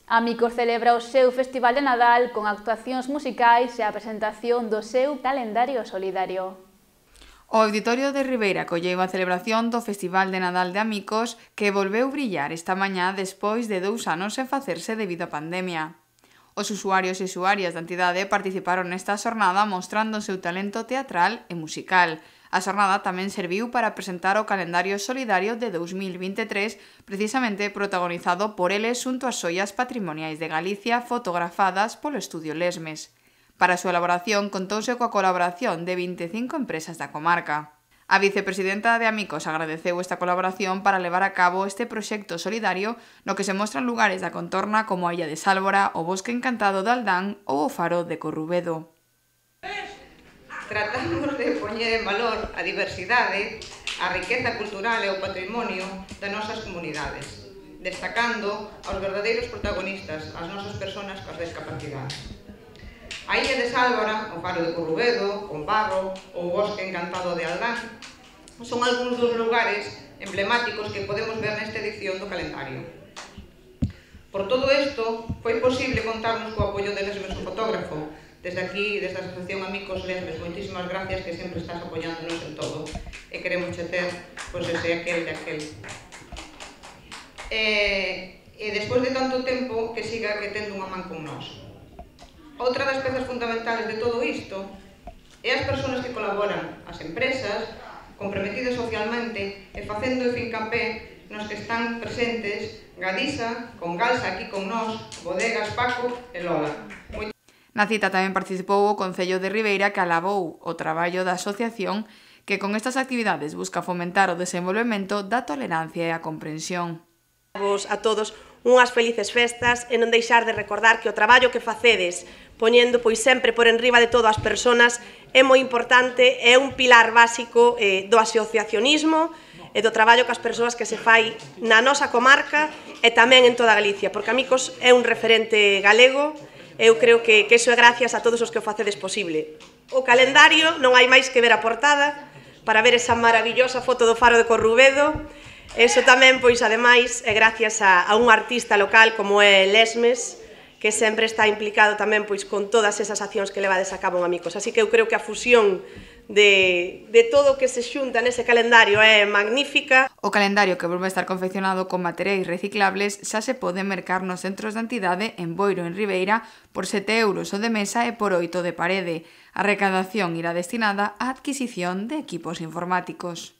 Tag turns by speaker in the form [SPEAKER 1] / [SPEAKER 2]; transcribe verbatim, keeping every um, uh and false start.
[SPEAKER 1] Amicos celebra o seu Festival de Nadal con actuacións musicais e a presentación do seu calendario solidario.
[SPEAKER 2] O Auditorio de Ribeira colleu a celebración do Festival de Nadal de Amicos que volveu brillar esta mañá despois de dous anos sen facerse debido á pandemia. Os usuarios e usuarias da entidade participaron nesta xornada mostrando o seu talento teatral e musical. A xornada tamén serviu para presentar o calendario solidario de dous mil vinte e tres, precisamente protagonizado por eles xunto ás xoias patrimoniais de Galicia fotografadas polo Estudio Lesmes. Para a súa elaboración contouse coa colaboración de vinte e cinco empresas da comarca. A vicepresidenta de Amicos agradeceu esta colaboración para levar a cabo este proxecto solidario no que se mostran lugares da contorna como a Illa de Sálvora, o Bosque Encantado de Aldán ou o Faro de Corrubedo.
[SPEAKER 3] Tratamos de poñer en valor a diversidade, a riqueza cultural e o patrimonio das nosas comunidades, destacando aos verdadeiros protagonistas, as nosas persoas coas discapacidades. A Illa de Sálvora, o Faro de Corrubedo, o Barro ou o Bosque Encantado de Aldán son algúns dos lugares emblemáticos que podemos ver nesta edición do calendario. Por todo isto, foi posible contarnos co apoio de Lesmes, o fotógrafo. Desde aquí, desde a Asociación Amicos Lesmes, moitísimas gracias que sempre estás apoiándonos en todo e queremos che ter, pois, ese aquel de aquel. E, e despois de tanto tempo que siga que tendo unha man con nós. Outra das pezas fundamentales de todo isto é as persoas que colaboran, as empresas, comprometidas socialmente e facendo fincapé nos que están presentes Gadisa, con Galsa aquí con nós, Bodegas Paco e Lola.
[SPEAKER 2] Na cita tamén participou o Concello de Ribeira que alabou o traballo da asociación que con estas actividades busca fomentar o desenvolvemento da tolerancia e a comprensión.
[SPEAKER 4] A todos unhas felices festas e non deixar de recordar que o traballo que facedes poñendo pois sempre por enriba de todo as persoas é moi importante, é un pilar básico eh, do asociacionismo e do traballo que as persoas que se fai na nosa comarca e tamén en toda Galicia, porque Amicos é un referente galego. Eu creo que, que iso é gracias a todos os que o facedes posible. O calendario non hai máis que ver a portada para ver esa maravillosa foto do Faro de Corrubedo. Eso tamén, pois, ademais, é gracias a, a un artista local como é Lesmes, que sempre está implicado tamén pois con todas esas accións que levades a cabo en Amicos. Así que eu creo que a fusión de, de todo o que se xunta nese calendario é magnífica.
[SPEAKER 2] O calendario, que volve a estar confeccionado con materiais reciclables, xa se pode mercar nos centros da entidade en Boiro, en Ribeira, por sete euros o de mesa e por oito de parede. A recadación irá destinada á adquisición de equipos informáticos.